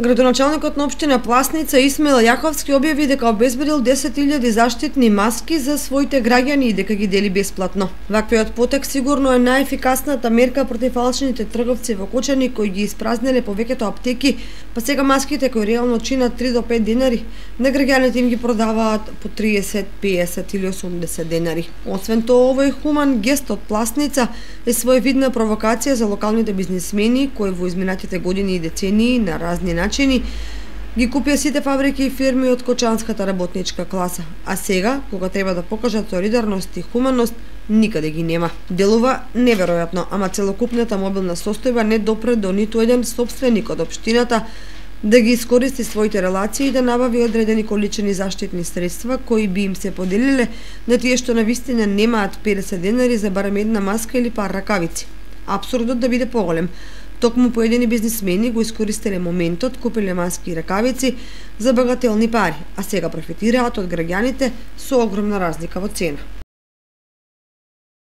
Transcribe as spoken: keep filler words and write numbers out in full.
Градоначалникот на општина Пласница Исмаил Јаховски објави дека обезбедил десет илјади заштитни маски за своите граѓани и дека ги дели бесплатно. Ваквиот потек сигурно е најефикасната мерка против фалшните трговци во Кочани кои ги испразнеле повеќето аптеки, па сега маските кои реално чинат три до пет денари, на граѓаните им ги продаваат по триесет, песет или осумдесет денари. Освен тоа, овој хуман гест од Пласница е своевидна провокација за локалните бизнисмени кои во изминатите години и децении на разни начини ги купија сите фабрики и фирми од кочанската работничка класа, а сега, кога треба да покажат солидарност и хуманност, никаде ги нема. Делува неверојатно, ама целокупната мобилна состојба не допре до ниту еден сопственик од општината да ги искористи своите релации и да набави одредени количини заштитни средства кои би им се поделиле на тие што навистина немаат педесет денари за барем една маска или пар ракавици. Апсурдот да биде поголем. Токму поедини бизнисмени го искористиле моментот, купиле маски и ракавици за багателни пари, а сега профитираат од граѓаните со огромна разлика во цена.